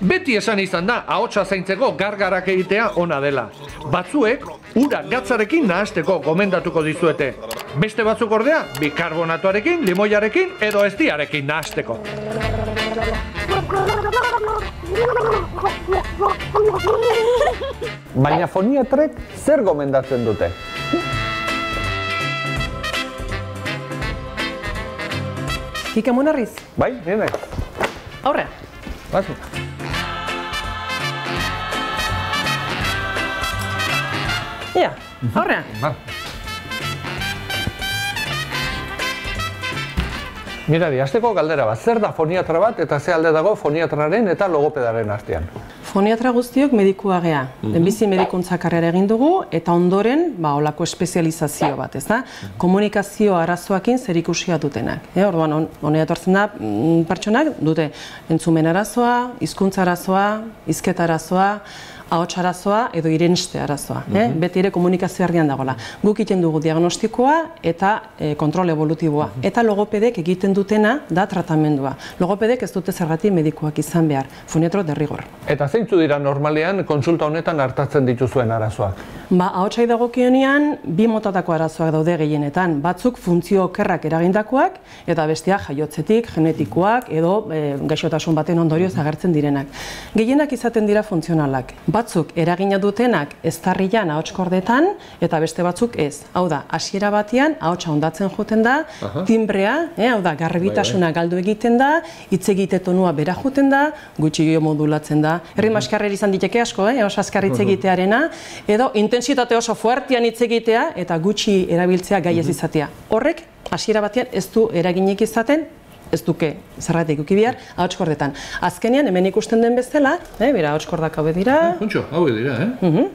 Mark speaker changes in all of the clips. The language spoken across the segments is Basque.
Speaker 1: Beti esan izan da, ahotsa zaintzeko gargarak egitea ona dela. Batzuek, ura gatzarekin nahasteko gomendatuko dizuete. Beste batzuk ordea, bikarbonatoarekin, limoiarekin edo eztiarekin nahasteko.
Speaker 2: Baina foniatrek zer gomendatzen dute?
Speaker 3: Kike Munarriz?
Speaker 2: Bai, nire?
Speaker 3: Aurrea.
Speaker 2: Bazu.
Speaker 3: Ia, aurrea.
Speaker 2: Mirari, hasteko galdera bat, zer da foniatra bat eta ze alde dago foniatraren eta logopedaren artean?
Speaker 3: Foniatra guztiok medikua gea. Lehenbizi medikuntza karrera egin dugu eta ondoren olako espezializazio bat, ez da? Komunikazio arazoekin zerikusia dutenak. Orduan, honea etortzen da, pertsonak dute entzumen arazoa, hizkuntza arazoa, hizketa arazoa, ahots arazoa edo irenste arazoa. Beti ere komunikazio argian dagoela. Guk egiten dugu diagnostikoa eta kontrol evolutiboa. Eta logopedek egiten dutena da tratamendua. Logopedek ez dute zergatik medikuak izan behar. Foniatro derrigor.
Speaker 2: Eta zeintzu dira normalean konsulta honetan hartatzen dituzuen arazoak?
Speaker 3: Ahotsai dagokionean, bi motatako arazoak daude gehienetan. Batzuk funtzio okerrak eragindakoak eta besteak jaiotzetik, genetikoak edo gaixotasun baten ondorioz agertzen direnak. Gehienak izaten dira funtzionalak. Batzuk eragina dutenak eztarrian ahotskordetan eta beste batzuk ez. Hau da, hasiera batean ahotsa hondatzen joten da, timbrea, hau da, garbitasuna galdu egiten da, hitz egite tonua bera joten da, gutxi modulatzen da. Erritmo askarrera izan diteke asko, oso azkar hitz egitearena, edo intentsitate oso fuertean hitz egitea eta gutxi erabiltzea gai ez izatea. Horrek hasiera batean ez du eraginik izaten, ez duke zerratik uki behar, ahotskordetan. Azkenean, hemen ikusten den bezala, bera, ahotskordak hauek dira.
Speaker 1: Kontxo, hauek dira,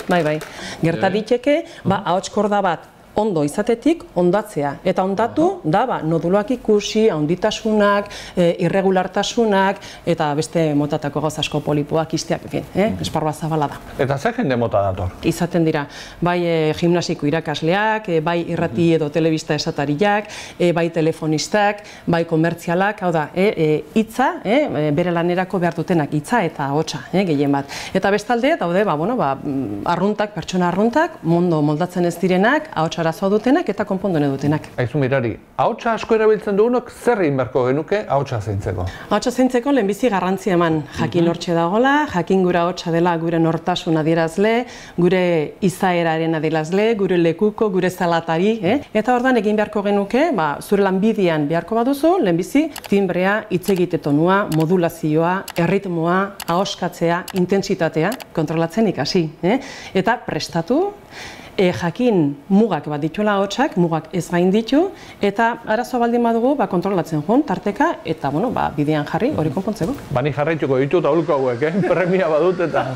Speaker 3: Bai. Gerta diteke, ahotskorda bat ondo izatetik ondatzea. Eta ondatu da noduloak ikusi, handitasunak, irregulartasunak, eta beste motatako gauz asko polipoak, isteak, esparrua zabala da.
Speaker 2: Eta ze jende mota dator?
Speaker 3: Izaten dira, bai gimnasiko irakasleak, bai irrati edo telebista esatariak, bai telefonistak, bai komertzialak, hau da, hitza, bere lanerako behar dutenak, hitza eta ahotsa, gehien bat. Eta bestalde, daude, arruntak, pertsona arruntak, mondo moldatzen ez direnak, ahotsa arazoa dutenak eta konpondu dutenak.
Speaker 2: Aizu Mirari, ahotsa asko erabiltzen dugunok zer egin beharko genuke ahotsa zaintzeko?
Speaker 3: Ahotsa zaintzeko lehenbizi garrantzia eman, jakin hortxe dagoela, jakin gure ahotsa dela gure nortasun adierazle, gure izaeraren adierazle, gure lekuko, gure zalatari, eta ordan egin beharko genuke, zure lanbidean beharko baduzu, lehenbizi timbrea, hitz egite tonua, modulazioa, erritmoa, ahoskatzea, intentsitatea kontrolatzen ikasi, eta prestatu, jakin mugak bat dituela ahotsak, mugak ez gain ditu, eta arazoa baldin badugu kontrolatzen joan, tarteka, eta bidean jarri hori konpontzeko.
Speaker 2: Bani jarraituko ditut aholku hauek, premia badut eta...